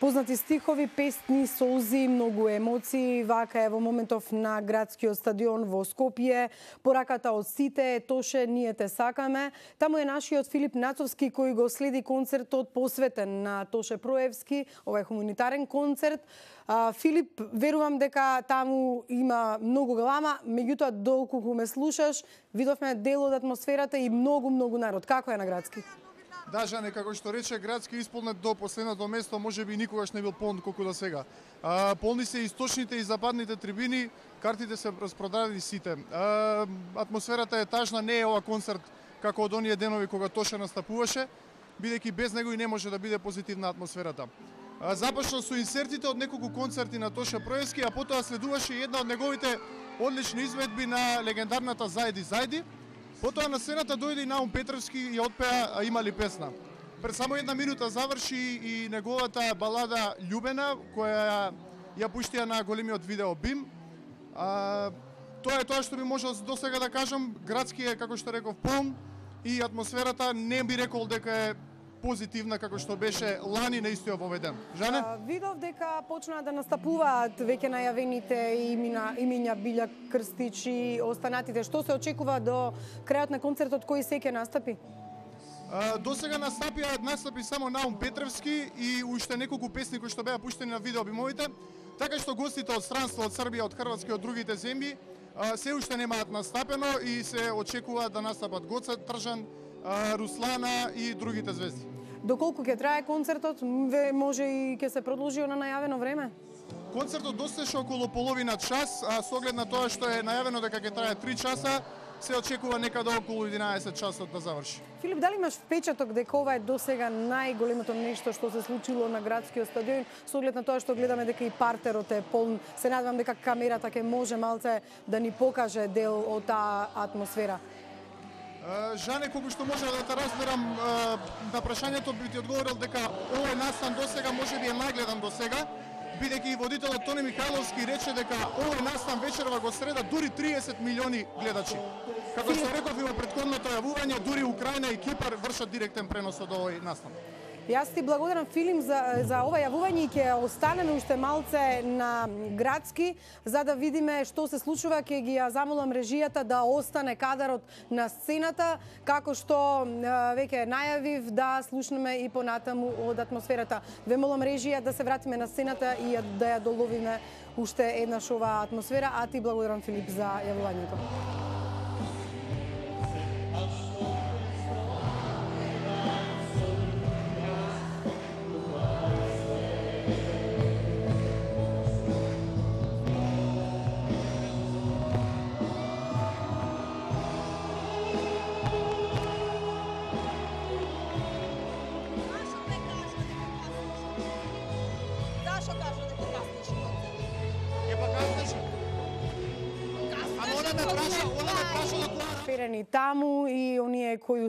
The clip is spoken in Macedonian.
Познати стихови, песни, солзи, многу емоции. Вака е во моментов на градскиот стадион во Скопје. Пораката од сите е Тоше, ние те сакаме. Таму е нашиот Филип Нацовски кој го следи концертот посветен на Тоше Проевски, овој хуманитарен концерт. Филип, верувам дека таму има многу галама, меѓутоа доколку ме слушаш, видовме дел од атмосферата и многу народ. Како е на градски? Да, Жане, како што рече, градски исполнет до последното место, можеби никогаш не бил полн колку до сега. Полни се источните и западните трибини, картите се распродадени сите. Атмосферата е тажна, не е ова концерт како од оние денови кога Тоше настапуваше, бидејќи без него и не може да биде позитивна атмосферата. Започна со инсертите од неколку концерти на Тоше Проевски, а потоа следуваше и една од неговите одлични изведби на легендарната Зајди. Потоа на сцената дојде и Наум Петровски и отпеа "Има ли песна". Пред само една минута заврши и неговата балада "Љубена", која ја пуштија на големиот видео Бим. Тоа е тоа што би можел до сега да кажам. Градски е, како што реков, полн и атмосферата не би рекол дека е позитивна како што беше лани на истиот овој ден. Жане? Видов дека почнаа да настапуваат веќе најавените имиња Билја Крстич и останатите. Што се очекува до крајот на концертот, кој се ќе настапи? До сега настапи само Наум Петровски и уште неколку песни кои што беа пуштени на видео бимовите, така што гостите од странство, од Србија, од Хрватска и од другите земји се уште немаат настапено и се очекува да настапат Гоце Тржан, Руслана и другите звезди. Доколку ќе трае концертот, може и ќе се продолжи на најавено време? Концертот достеше околу половина час, а со оглед на тоа што е најавено дека ќе трае 3 часа, се очекува некаде околу 11 часот да заврши. Филип, дали имаш впечаток дека ова е досега најголемото нешто што се случило на градскиот стадион, со оглед на тоа што гледаме дека и партерот е полн? Се надевам дека камерата ќе може малце да ни покаже дел од таа атмосфера. Жане, колку што може да те разберам на прашањето, би ти одговорил дека овој настан досега можеби е најгледан досега, бидејќи и водителот Тони Михајловски рече дека овој настан вечерва го среда дури 30 милиони гледачи. Како што реков и во претходното јавување, дури Украина и Кипар вршат директен пренос од овој настан. Јас ти благодарам, Филип, за ова јавување и ќе останеме уште малце на градски, за да видиме што се случува. Ќе ги ја замолам режијата да остане кадарот на сцената, како што веќе најавив, да слушнеме и понатаму од атмосферата. Ве молам режија да се вратиме на сцената и да ја доловиме уште еднаш оваа атмосфера, а ти благодарам, Филип, за јавувањето. Перени таму и оние кои